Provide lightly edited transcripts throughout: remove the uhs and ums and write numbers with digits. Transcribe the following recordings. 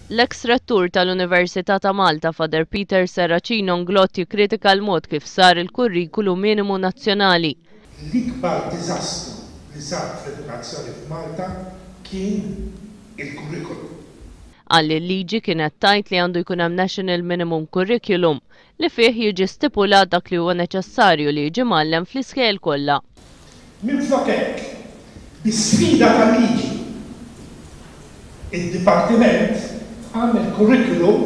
L-eks Rettur tal-Università ta' Malta Father Peter Serracino Nglott jikkritika l-mod kif sar il-Kurrikulu Minimu Nazzjonali. L-ikbar diżastru li sar fl-edukazzjoni f'Malta kien il-kurrikulum. Qal li l-liġi kienet tgħid li għandu jkun hemm National Minimum Curriculum li fih jiġi stipulat dak li huwa neċessarju li jiġi mgħallem fl-iskejjel kollha. Minflok hekk, bi sfida tal-liġi, id-Dipartiment għamel curriculum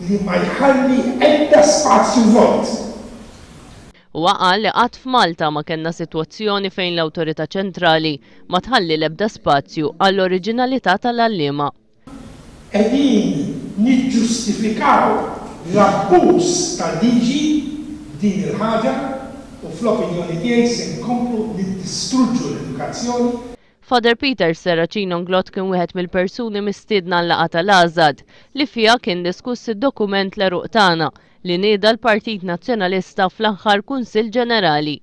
li ma jħalli ebda spazju vojt. Huwa qal li qatt f'Malta ma kellna sitwazzjoni fejn l-awtorità ċentrali ma tħalli l-ebda spazju għall-oriġinalità tal-għalliema. Qegħdin niġġustifikaw l-abbuż tal-liġi b'din il-ħaġa u fl-opinjoni tiegħi se nkomplu niddistruġġu l-edukazzjoni. Father Peter Serracino Nglott kien wieħed mill-persuni mistiedna għal-laqgħa tal-AŻAD li fiha kien diskuss id-dokument L-Għeruq Tagħna li nieda l-Partit Nazzjonalista fl-aħħar Kunsill Ġenerali.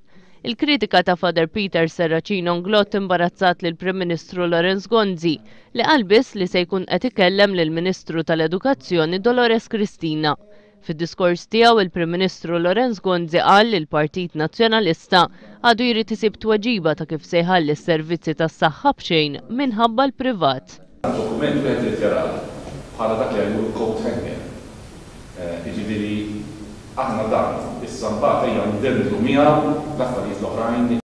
Il-kritika ta' Father Peter Serracino Nglott imbarazzat lill-Prim Ministru Lawrence Gonzi li qal biss li se jkun qed ikellem lill-Ministru tal-Edukazzjoni Dolores Cristina. Fid-diskors tiegħu il-Prim Ministru Lawrence Gonzi qal li l-Partit Nazzjonalista għadu jrid isib tweġiba ta' kif se jħalli s-servizzi tas-saħħa b'xejn minħabba l-privat. Dokument wieħed irid jarah bħala dak li jgħidulu coat hanger. Jiġifieri aħna dan, issa mbagħad ejja ndendlu miegħu l-affarijiet l-oħrajn.